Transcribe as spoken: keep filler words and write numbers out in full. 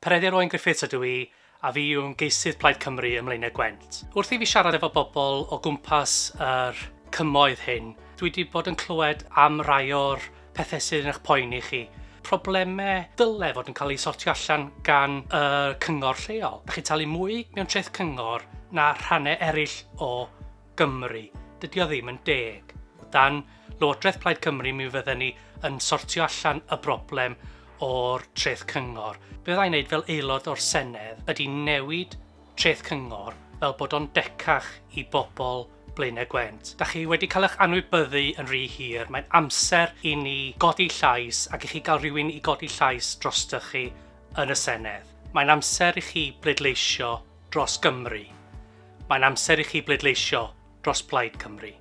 Peredur Owen Griffiths ydw i, a fi yw ymgeisydd Plaid Cymru ym Mlaenau Gwent. Wrth i fi siarad efo bobl o gwmpas yr cymoedd hyn, dwi wedi bod yn clywed am rai o'r pethau sydd yn eich poeni chi. Problemau dyle fod yn cael eu sortio allan gan y cyngor lleol. Da chi'n talu mwy mewn treth cyngor na rhannau eraill o Gymru. Dydy o ddim yn deg. Dan Lywodraeth Plaid Cymru mi fydden ni yn sortio allan y broblem o'r treth cyngor. Be fydda i'n neud fel aelod o'r Senedd ydy newid treth cyngor fel bod o'n decach i bobl Blaenau Gwent. Da chi wedi cael eich anwybyddu yn rhy hir. Mae'n amser i ni godi llais ac i chi gael rhywun i godi llais drostoch chi yn y Senedd. Mae'n amser i chi bleidleisio dros Gymru. Mae'n amser i chi bleidleisio dros Plaid Cymru.